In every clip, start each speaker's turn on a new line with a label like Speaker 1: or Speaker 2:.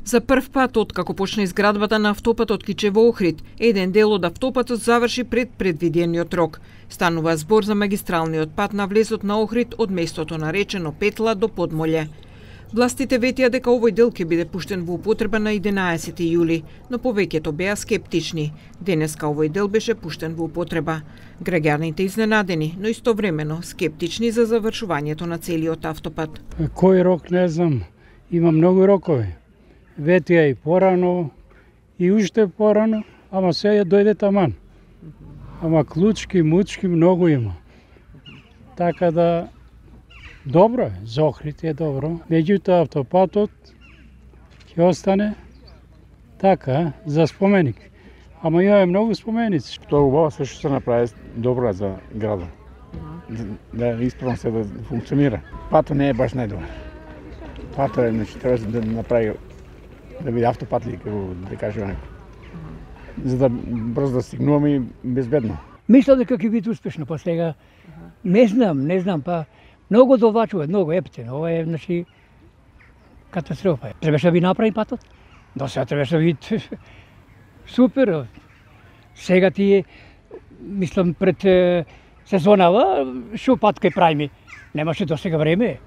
Speaker 1: За прв пат откако почна изградбата на автопатот Кичево-Охрид, еден дел од автопатот заврши пред предвидениот рок. Станува збор за магистралниот пат на влезот на Охрид од местото наречено Петла до Подмолје. Властите ветија дека овој дел ќе биде пуштен во употреба на 11 јули, но повеќето беа скептични. Денеска овој дел беше пуштен во употреба. Граѓаните изненадени, но истовремено скептични за завршувањето на целиот автопат.
Speaker 2: Кој рок не знам, има многу рокови. Ветија и порано, и уште порано, ама сега дојде таман. Ама клучки, мучки многу има. Така да, добро е, за Охрид е добро. Меѓутоа автопатот ќе остане така, за споменик. Ама имаме многу споменици.
Speaker 3: Тоа убаво се што се направи добро за градот. Да исправно се да функционира. Патот не е баш најдобар. Патот е, значи, треба да направи да биде автопат ли, да кажеме некој. За да брзо да стигнуваме и безбедно.
Speaker 4: Мислам дека ќе биде успешно, па сега не знам, па многу довлачува, многу ептен. Ова е, значи, катастрофа. Требаше да би направи патот. До сега требаше да биде супер. Сега тие, мислам, пред сезонава, шо пат кај правиме. Немаше до сега време.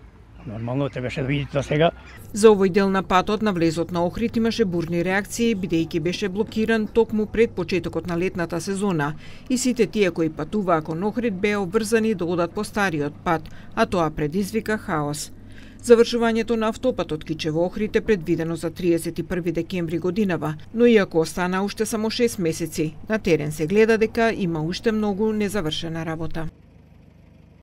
Speaker 4: Нормално требаше да видите до сега.
Speaker 1: За овој дел на патот на влезот на Охрид имаше бурни реакции, бидејќи беше блокиран токму пред почетокот на летната сезона и сите тие кои патуваа кон Охрид беа обврзани да одат по стариот пат, а тоа предизвика хаос. Завршувањето на автопатот Кичево-Охрид е предвидено за 31 декември годинава, но иако остана уште само 6 месеци, на терен се гледа дека има уште многу незавршена работа.